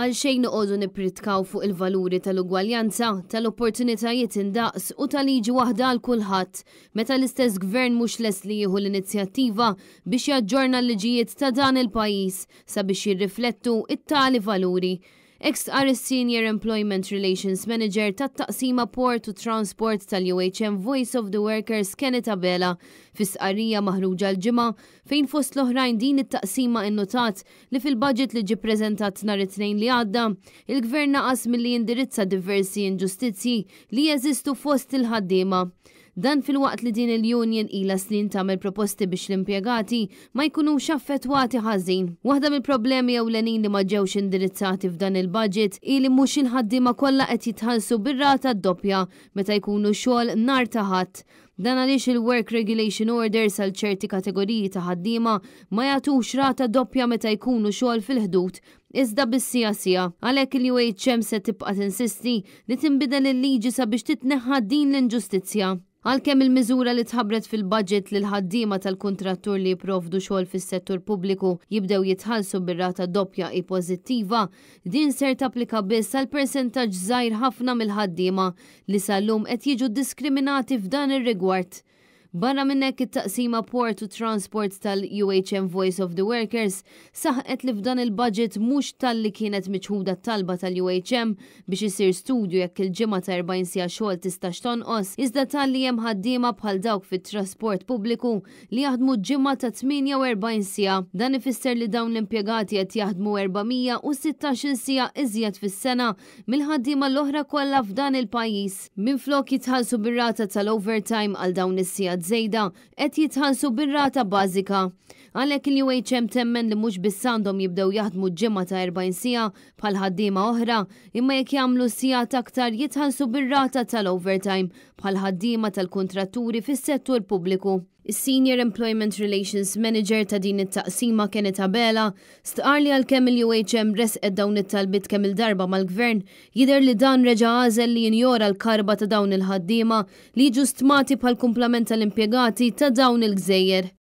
Għalxejn noqogħdu nippritkaw fuq il-valuri tal-ugwaljanza, tal-opportunitajiet indaqs u ta' liġi waħda għal kulħadd, meta l-istess Gvern mhux lest li jieħu l-inizjattiva biex jaġġorna l-liġijiet ta' dan il-pajjiż sabiex jirriflettu t-tali valuri. Hekk stqarr is-Senior Employment Relations Manager tat-Taqsima Port u Transport tal-UHM Voice of the Workers Kenneth Abela fi stqarrija maħruġa l-Ġimgħa fejn fost l-oħrajn din it-taqsima innutat li fil-budget li ġie ppreżentat nhar it-Tnejn li għadda, il-Gvern naqas milli jindirizza diversi inġustizzji li jeżistu fost il-ħaddiema. Dan filwaqt li din il-union ilha snin tagħmel proposti biex l-impjegati ma jkunux affettwati ħażin. Waħda mill-problemi ewlenin li ma ġewx indirizzati f'dan il-budget hi li mhux il-ħaddiema kollha qed jitħallsu bir-rata doppja meta jkunu xogħol nhar ta' Ħadd. Dan għaliex il-Work Regulation Orders għal ċerti kategoriji ta' ħaddiema ma jagħtux rata doppja meta jkunu xogħol fil-Ħdud, iżda bis-siegħa siegħa. Għalhekk il-UHM se tibqa' tinsisti li tinbidel il-liġi sabiex titneħħa din l-inġustizzja. Għalkemm il-miżura li tħabbret fil-budget li l-ħaddiema tal-kuntrattur li jipprovdu xogħol fis-settur pubbliku jibdew jitħallsu bir-rata doppja hi pożittiva, din ser tapplika biss għal persentaġġ żgħir ħafna mill-ħaddiema li sal-lum qed jiġu ddiskriminati f'dan ir-rigward. Barra minn hekk it-Taqsima Port u Transport tal-UHM Voice of the Workers saħqet li f'dan il-budget mhux talli kienet miċħuda t-talba tal-UHM biex isir studju jekk il-ġimgħa ta' 40 siegħa xogħol tistax tonqos, iżda talli hemm ħaddiema bħal dawk fit-trasport pubbliku li jaħdmu ġimgħa ta' 48 siegħa. Dan ifisser li dawn l-impjegati qed jaħdmu 416-il siegħa iżjed fis-sena mill-ħaddiema l-oħra kollha f'dan il-pajjiż. Minflok jitħallsu bir-rata tal-overtime għal dawn is-sigħat żejda, qed jitħallsu bir-rata bażika. Għalhekk il-UHM temmen li mhux biss għandhom jibdew jaħdmu ġimgħa ta' 40 siegħa bħal ħaddiema oħra, imma jekk jagħmlu sigħat aktar jitħallsu bir-rata tal-overtime bħal ħaddiema tal-kuntratturi fis-settur pubbliku. Is-Senior Employment Relations Manager ta' din it-taqsima Kenneth Abela stqarr li għalkemm il-UHM ressqet dawn it-talbiet kemm-il darba mal-Gvern, jidher li dan reġa' għażel li jinjora l-karba ta' dawn il-ħaddiema li jiġu stmati bħal kumplament tal-impjegati ta' dawn il-gżejjer.